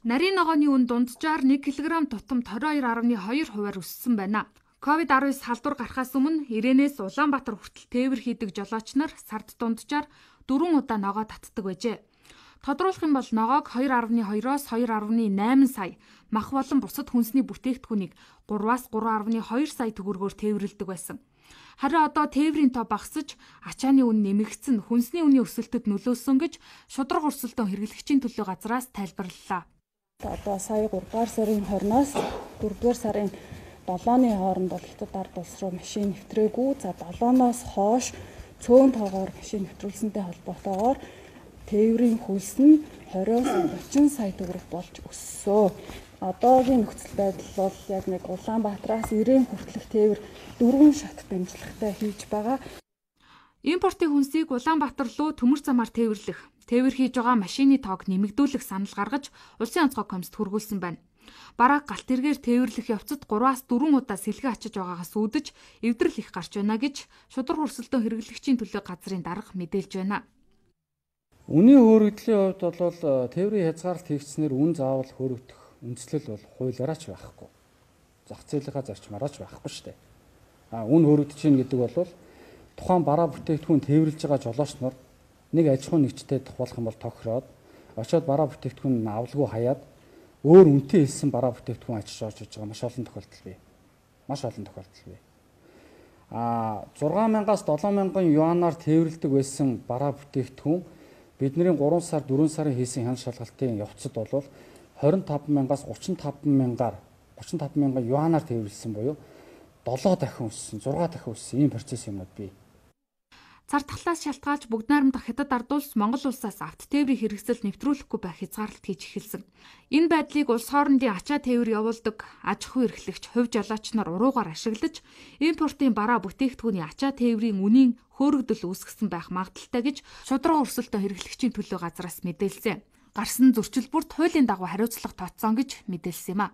Нарийн ногооны үн дунджаар 1 кг тутам 22.2% өссөн байна. COVID-19 халдвар гарахаас өмнө Ирээнээс Улаанбаатар хүртэл тээвэр хийдэг жолооч нар сард дунджаар 4 удаа ногоо татдаг байжээ. Тодруулах юм бол ногоог 2.2-оос 2.8 сая, мах болон бусад хүнсний бүтээгдэхүүнийг 3-аас 3.2 сая төгрөгөөр тээвэрлэдэг байсан. Харин одоо тээврийн тоо багасж, ачааны үн нэмэгдсэн, хүнсний үнийн өсөлтөд нөлөөсөн гэж шудраг өрсөлдөөн хэрэглэгчийн төлөө газраас тайлбарлалаа. Одоо сая 3-р сарын 20-оос 4-р сарын 7-ны хооронд бол Хятад ард улс руу машин нэвтрээгүй. За 7-ноос хойш цөөн тоогоор машин нэвтрүүлсэнтэй холбоотойгоор тээврийн хөлс нь 20-30 сая төгрөг болж өссөн. Одоогийн нөхцөл байдал бол яг нэг Улаанбаатараас Ирээн хүртэлх тээвэр 4 шат дамжлагтай хийж байгаа. Импортын хүнсийг Улаанбаатар руу төмөр замаар тээвэрлэх, тээвэр хийж байгаа машины тоог нэмэгдүүлэх санал гаргаж Улсын онцгой комиссд хүргүүлсэн байна. Бараг галт тэргээр тээвэрлэх явцад 3-аас 4 удаа сэлгэ ачиж байгаагаас үүдэж эвдрэл их гарч байна гэж шудраг өрсөлдөөн хэрэглэгчийн төлөө газрын дарга мэдээлж байна. Үнийн хөөрөгдлийн хувьд бол тээврийн хязгаарлалт хийгдснээр үн заавал хөөрөгдөх үндслэл бол хуулиараа ч байхгүй. Зах зээлийнхаа зарчмаараа ч байхгүй шүү дээ. Үн хөөрөгдөж чинь гэдэг бол тухайн бараа бүтээгдэхүүн тээвэрлж байгаа жолооч нар нэг аж ахуйн нэгжтэй тухайлах юм бол тохироод очиод бараа бүтээгдэхүүн авалгүй хаяад өөр үнэтэй хэлсэн бараа бүтээгдэхүүн ачиж орж иж байгаа маш олон тохиолдол бий. Маш олон тохиолдол бий. 6,000-аас 7,000 юанаар тээвэрлдэг байсан бараа бүтээгдэхүүн бидний 3 сар 4 сарын хийсэн хяналт шалгалтын явцад бол 25,000-аас 35,000 юанаар тээвэрлсэн буюу 7 дахин өссөн, 6 дахин өссөн ийм процесс юмнууд бий. Цар тахлаас шалтгаалж бүгд найрамдах Хятад ард улс Монгол улсаас авто тээврийн хэрэгсэл нэвтрүүлэхгүй байх хязгаарлалт хийж эхэлсэн. Энэ байдлыг улс хоорондын ачаа тээвэр явуулдаг аж ахуй эрхлэгч, хувь жолооч нар уруугаар ашиглаж, импортын бараа бүтээгдэхүүний ачаа тээврийн үнийн хөөрөгдөл үүсгэсэн байх магадaltaй гэж шудраг өрсөлдөөн хэрэглэгчийн төлөө газраас мэдээлсэн. Гарсан зөрчил бүрт хуулийн дагуу хариуцлага тооцсон гэж мэдээлсэн юм а.